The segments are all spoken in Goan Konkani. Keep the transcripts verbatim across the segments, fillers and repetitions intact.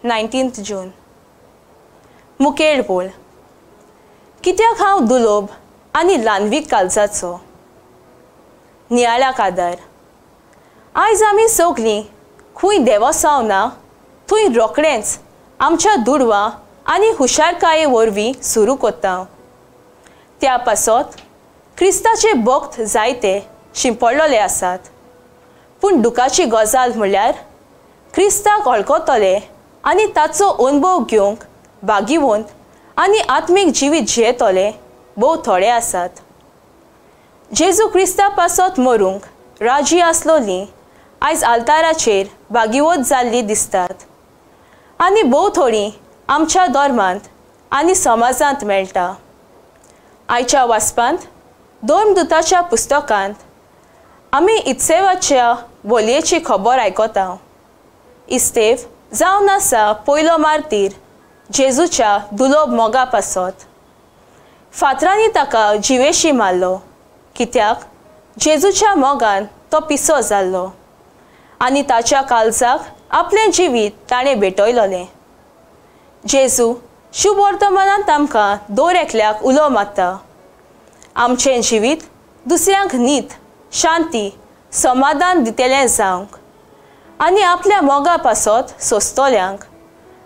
Nineteenth June. मुखेल बोल. कित्याक हांव दुलोब आनी ल्हानवीक कालजाचो. नियाळाक आदार. आयज आमी सगलीं खंय देवसांव ना थंय रोखडेंच आमच्या दुडवां आनी हुशारकाये वरवीं सुरू करता. त्या पासत क्रिस्ताचे भक्त जायते शिंपडलेले आसात. पूण दुखाची गजाल म्हणल्यार क्रिस्ताक वळखतले आनी ताचो अनुभव घेवंक भागिवंत आनी आत्मीक जिवीत जियेतले भोव थोडे आसात. जेजू क्रिस्ता पासत मरूंक राजी आसलोली आयज आल्ताराचेर भागिवत जाल्ली दिसतात आनी भोव थोडी आमच्या धर्मांत आनी समाजांत मेळटा. आयच्या वाचपांत धर्मदूताच्या पुस्तकांत आमी इत्सेवाच्या बोलयेची खबर आयकता. इस्तेव जावन आसा पयलो मार्तीर जेजूच्या दुलोब मोगा पासत. फातरांनी ताका जिवेशी मारलो कित्याक जेजूच्या मोगान तो पिसो जाल्लो आनी ताच्या काळजाक आपलें जिवीत ताणें भेटयलोलें. जेजू शुभ वर्तमानांत आमकां दर एकल्याक उलो मारता. आमचें जिवीत दुसऱ्यांक नीत, शांती, समाधान दितलें जावंक आनी आपल्या मोगा पासत सोंसतल्यांक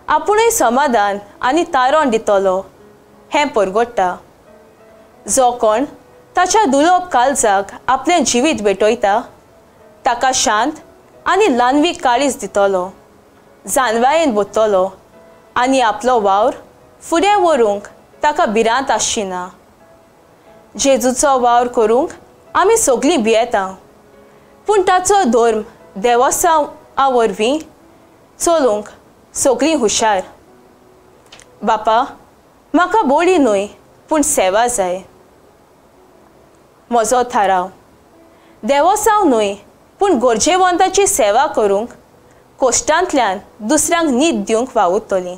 आपुणूय समाधान आनी तारण दितलो हें परगट्टा. जो कोण ताच्या दुलोब काळजाक आपलें जिवीत भेटयता ताका शांत आनी ल्हानवीक काळीज दितलो, जानवायेन भरतलो आनी आपलो वावर फुडें व्हरूंक ताका भिरांत आसची ना. जेजूचो वावर करूंक आमी सगलीं भियेता, पूण ताचो धर्म देवसांवा वरवीं चलूंक सगलीं हुशार. बापा, म्हाका बोली न्हय पूण सेवा जाय. म्हजो थाराव देवसांव न्हय पूण गरजेवंताची सेवा करूंक कोश्टांतल्यान दुसऱ्यांक नीत दिवंक वावुरतली.